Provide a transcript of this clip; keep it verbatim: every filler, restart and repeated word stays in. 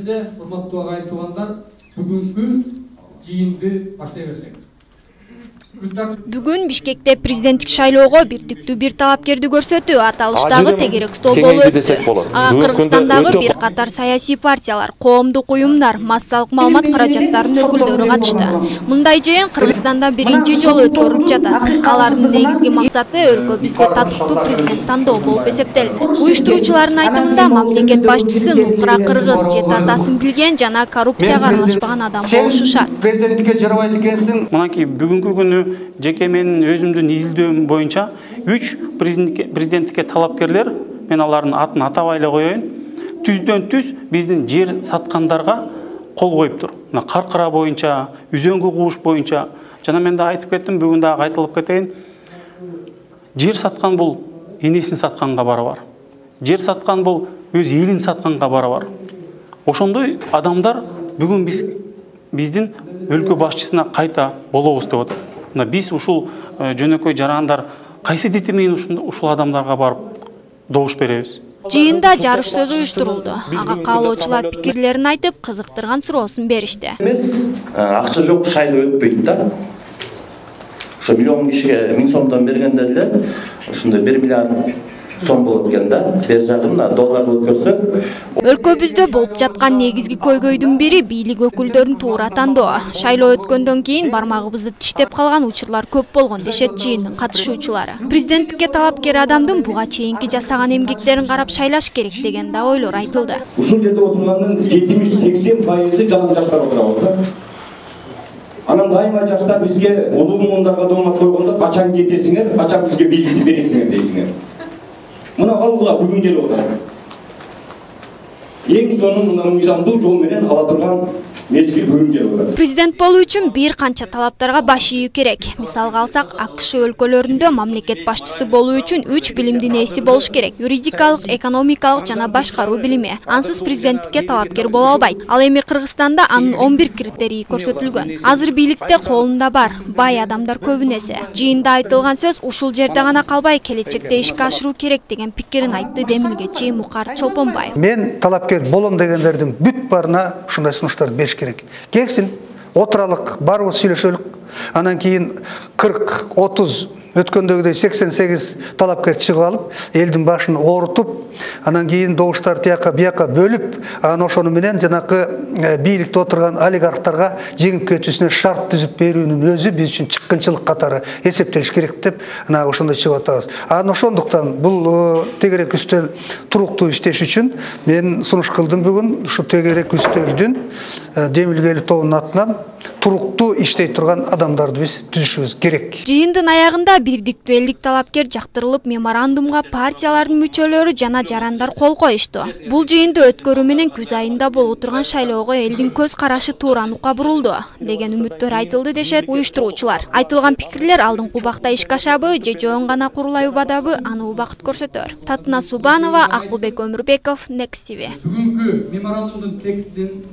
келсе, урматтуу агайын туугандар, бүгүнкү жыйынды баштай берсек. Бүгүн Бишкекте президенттик шайлоого бирдиктүү бир талапкерди көрсөтүү аталыштагы тегерек стол болуп өттү. Ага Кыргызстандагы бир катар саясий партиялар, коомдук уюмдар, массалык маалымат каражаттарынын өкүлдөрү катышты. Мындай жыйын Кыргызстанда биринчи жолу өткөрүлүп жатат. Алардын негизги максаты өлкөбүзгө татыктуу президент тандоо болуп эсептелди. Уюштуруучулардын айтымында мамлекет башчысы нукура кыргыз, жети атасын билген жана коррупцияга аралашпаган адам болушу шарт. Президенттикке жарабайт экенсиң. Мынакей бүгүнкү күнү жеке менин өзүмдүн изилдөөм боюнча үч президенттикке талапкерлер, мен алардын атын атабай эле коеюн, түздөн түз биздин жер саткандарга кол коюптур. Мына Каркыра боюнча, Үзөңгү кууш боюнча, жана мен да айтып кеттим, бүгүн дагы айтылып кетейин. Жер саткан бул энесин сатканга барабар. Жер саткан бул өз элин сатканга барабар. Ошондой адамдар бүгүн биз биздин өлкө башчысына кайта болобуз деп атат. Биз ушул жөнөкөй жарандар кайсы дити менен ушул адамдарга барып добуш беребиз? Жыйында жарыш сөз уюштурулду. Ага каалоочулар пикирлерин айтып, кызыктырган суроосун беришти. Эмес, акча жок шайлоо өтпөйт да. Ошо миллион кишиге миң сомдон бергенде эле ушундай бир миллиард сом болот экен да. Бер жагын долларга өткөрсөк, өлкөбүздө болуп жаткан негизги көйгөйдүн бири бийлик өкүлдөрүн туура тандоо. Шайлоо өткөндөн кийин бармагыбызды тиштеп калган учурлар көп болгон дешет жыйындын катышуучулары. Президенттикке талапкер адамдын буга чейинки жасаган эмгектерин карап шайлаш керек деген да ойлор айтылды. Ушул жерде отурганын жетимиш сексен пайызы жан жаштар отурабыз. Анан дайыма жаштар бизге улуу муундарга доомат койгондо качан кетесиңер, качан бизге бийликти бересиңер дейсиңер. Мына алгыла бүгүн келип отурат. Эң сонун мына мыйзамдуу жол менен ала турган мезгил бүгүн келип отурат. Президент болуу үчүн бир канча талаптарга баш ийүү керек. Мисалга алсак, АКШ өлкөлөрүндө мамлекет башчысы болуу үчүн үч билимдин ээси болуш керек: юридикалык, экономикалык жана башкаруу билими. Ансыз президенттикке талапкер боло албайт. Ал эми Кыргызстанда анын он бир критерийи көрсөтүлгөн. Азыр бийликте колунда бар, бай адамдар көбүнесе. Жыйында айтылган сөз ушул жерде гана калбай, келечекте ишке ашыруу керек деген пикирин айтты демилгечи Мукар Чолпонбаев. Мен талапкер болом дегендердин бүт барына ушундай сунуштарды бериш керек. Келсин, отуралык, барыбыз сүйлөшөлүк. Анан кийин кырк, отуз өткөндөгүдөй сексен сегиз талапкер чыгып алып, элдин башын оорутуп, анан кийин добуштарды тияка бияка бөлүп, анан ошону менен жанакы бийликте отурган олигархтарга жеңип кетүүсүнө шарт түзүп берүүнүн өзү биз үчүн чыккынчылык катары эсептелиш керек деп ана ошондой чыгып атабыз. Анан ошондуктан бул тегерек үстөл туруктуу иштеш үчүн мен сунуш кылдым бүгүн ушу тегерек үстөлдүн демилгелүү тобунун атынан туруктуу иштей турган адамдарды биз түзүшүбүз керек. Жыйындын аягында бирдиктүү элдик талапкер жактырылып, меморандумга партиялардын мүчөлөрү жана жарандар кол коюшту. Бул жыйынды өткөрүү менен күз айында болуп турган шайлоого элдин көз карашы туура нукка бурулду деген үмүттөр айтылды дешет уюштуруучулар. Айтылган пикирлер алдыңкы убакта ишке ашабы же жоон гана курулай убадабы, аны убакыт көрсөтөр. Татына Субанова, Акылбек Өмүрбеков, Next ти ви. Бүгүнкү меморандумдун текстин